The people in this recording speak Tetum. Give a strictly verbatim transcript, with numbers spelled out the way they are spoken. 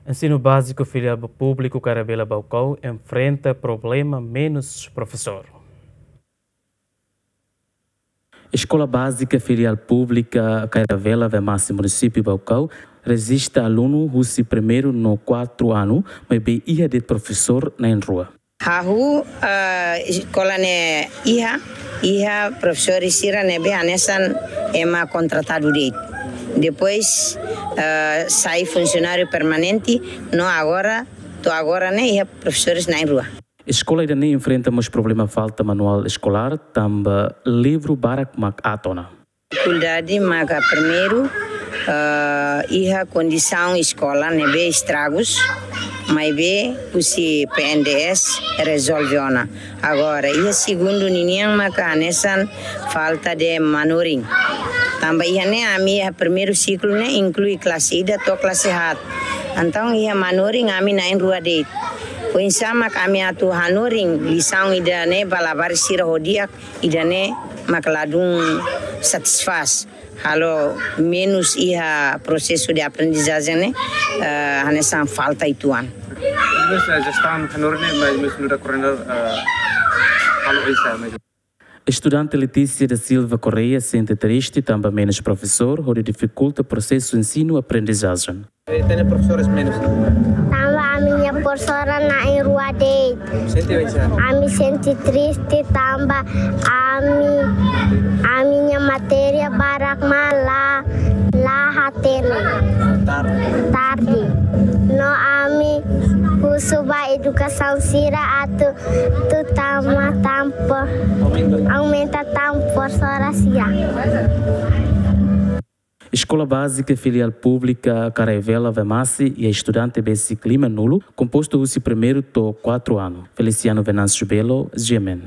Ensinu Báziku Filiál Públiku Karavela Baucau enfrenta problema menus profesór. Eskola Bázika Filiál Públika Karavela Vemasi, Munisípiu Baucau, rejista alunu husi primeiru no kuartu anu, maibé iha de'it profesór na'in-rua. Hahú, ah, eskola ne'e iha, iha profesór sira ne'ebé hanesan ema kontratadu de'it. Depois, ah, sai funsionáriu permanente, no agora, to'o agora ne'e iha profesores na'in-rua. Eskola ida-ne'e enfrenta mós problema falta manuál eskolár, tanba livru barak mak aat ona. Difikuldade maka primeiru, ah, iha kondisaun eskola ne'ebé estragus, maibé husi P N D S rezolve ona. Agora, iha segundu ninian maka hanesan falta de manorin. Tanba iha ne'e ami iha primeiru siklu ne'e inklui klase ida to'o klase haat. Entaun iha manorin ami na'in-rua de'it. Oinsá mak ami atu hanorin lisaun ida-ne'e ba labarik sira ho di'ak, ida-ne'e mak ladún satisfás. Halo menus iha prosesu de aprendizajen ne'e, eh, hanesan falta uitoan. Menus, eh, jestaun hanorin ne'e, mais menus nu'udar koordenadór, eh, halo oinsá, mais. Estudante Letícia da Silva Correia sente triste tanba menus profesór, hodi difikulta prosesu ensinu-aprendizajen. Eh, tenke profesores menus. Tanba ami-nia profesora na'in-rua de'it. Sente oinsá? Ami sente triste tanba ami, ami-nia matéria barak mak la, la hatene. Tarde. Tarde. No ami husu ba edukasaun sira atu, atu tama tan pro-, aumenta tan profesora sira. Eskola Bázika Filiál Públika Karavela Vemasi iha estudante besik lima-nulu, kompostu husi primeiru to'o kuartu anu. Feliciano Venâncio Belo, G M N.